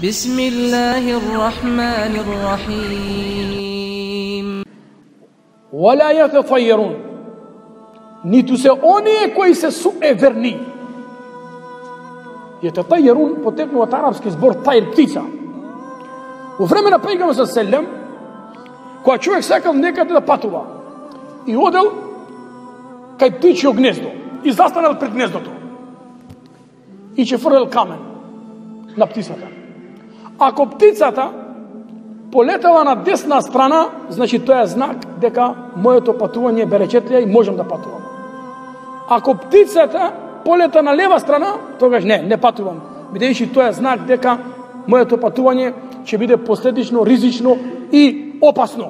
Bismillahirrahmanirrahim. ولا يتطيرون, ниту се оние кои се суеверни. Јетатајерун потекнува од арапски збор тајр, птица. Во време на пејгамберот селем, кога човек сакал некаде да патува и одел кај птичјо гнездо и застанал пред гнездото и ќе фрлел камен на птицата. Ако птицата полетала на десна страна, значи тоа е знак дека моето патување е беречетлија и можам да патувам. Ако птицата полета на лева страна, тогаш не патувам, бидејќи тоа е знак дека моето патување ќе биде последично, ризично и опасно.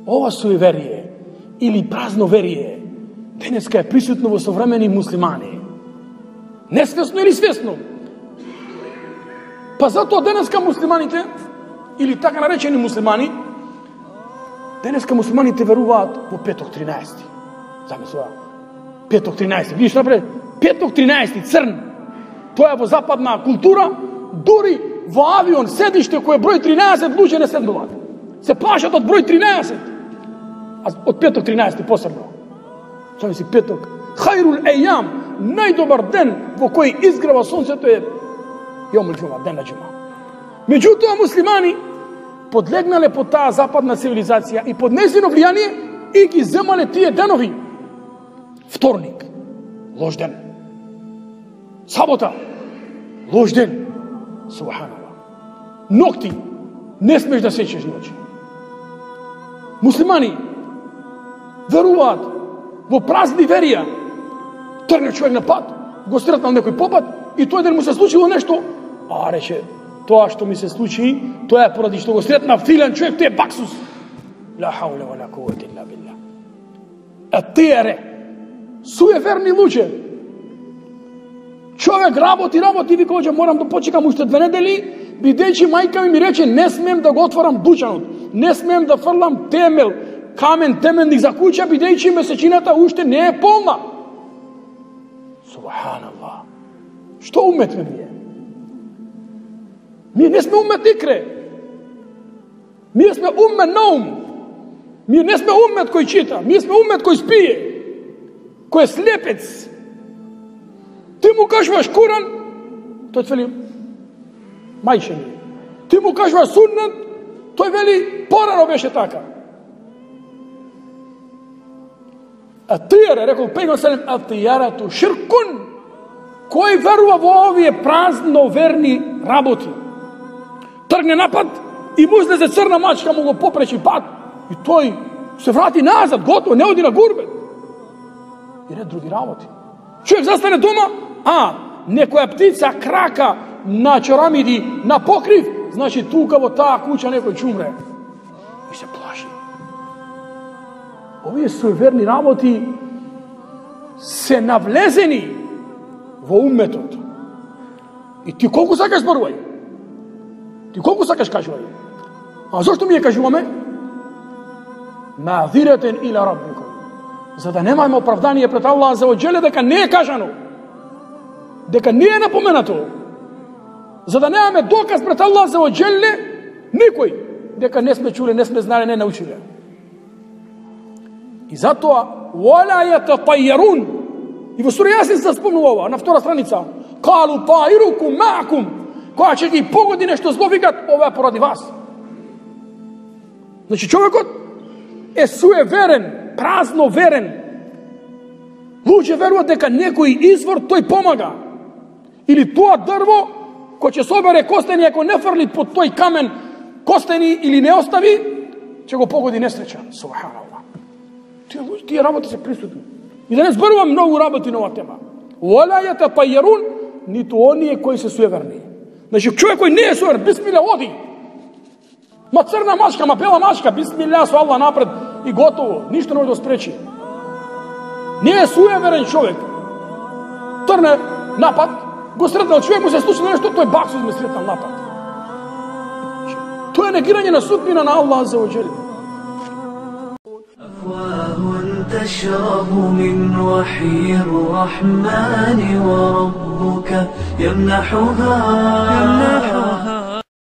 Ова суеверие или празно верие денеска е присутно во современи муслимани. Несвесно или свесно. Па затоа денеска муслиманите, или така наречени муслимани, денеска муслиманите веруваат во петок 13. Замислува, петок 13. Видиш напред, петок 13, црн. Тоа е во западна култура, дури во авион седиште кој е број 13, луѓе не седнуваат. Се плашат од број 13. А од петок 13 посебно. Тоа си петок. Хајрул ејам, најдобар ден во кој изгрева сонцето е јомул џума, ден на џума. Меѓутоа муслимани подлегнале под таа западна цивилизација и под нејзино влијание и ги земале тие денови. Вторник, лош ден. Сабота, лош ден. Субханаллах. Нокти, не смеш да сечеш ноќи. Муслимани веруваат во празни верија. Тргне човек на пат, го сретнал некој попат и тој ден му се случило нешто. А рече, тоа што ми се случи, тоа е поради што го сретна филен човек, тој е баксус. Ла хаула ва ла куввата илла билlah. Атиере, суеверни луѓе. Човек работи, вика, оđe, морам да почекам уште 2 недели, бидејќи мајка ми рече, не смеем да го отворам дучанот, не смеем да фрлам темел, камен теменник за куќа, бидејќи месечината уште не е полна. Субханаллах. Што уметме ние? Ние не сме умет икре. Ние сме умет наум. Ние не сме умет кој чита. Ние сме умет кој спие. Кој е слепец. Ти му кажуваш Куран, тој вели мајче ми. Ти му кажуваш суннет, тој вели порано беше така. Атијара, рекол пејгамберот селем, атијарату ширкун. Кој верува во овие празно верни работи? Тргне напад и му излезе црна мачка, му го попречи пат и тој се врати назад, готово, не оди на гурбет. И ред други работи. Човек застане дома, некоја птица крака на чорамиди, на покрив, значи тука во таа куќа некој ќе умре. И се плаши. Овие суеверни работи се навлезени во умметот. И ти колку сакаш зборувај? Ти колку сакаш кажувај? А зошто ми ја кажуваме? Наъзиратен иля раббикум. За да немајме оправдание пред Аллах за оџеле дека не е кажано, дека не е напоменато, за да немаме доказ пред Аллах за оџеле никој, дека не сме чуле, не сме знали, не научиле. И затоа вала јататајерун. И во сура Јасин се спомнува ова, на 2 страница. Калу таирукум маакум. Кога ќе ги погоди нешто зло, викат, ова е поради вас. Значи човекот е суеверен, празно верен. Луѓе веруваат дека некој извор тој помага. Или тоа дрво кој ќе собере костени, ако не фрли под тој камен костени или не остави, ќе го погоди несреќа. Субханаллах. Тие работи се присутни. И да не зборувам многу работи на оваа тема. Вала јататајерун, ниту оние кои се суеверни. Значи човек кој не е суеверен, бисмилла, оди. Ма црна мачка, ма бела мачка, бисмилла со Аллах напред и готово. Ништо не може да спречи. Не е суеверен човек. Трне напад, го сретнал човек, му се случи нешто, тој баксус ме сретнал напад. Тоа е негирање на судбина на Аллах за оџели. تشرب من وحي الرحمن وربك يمنحها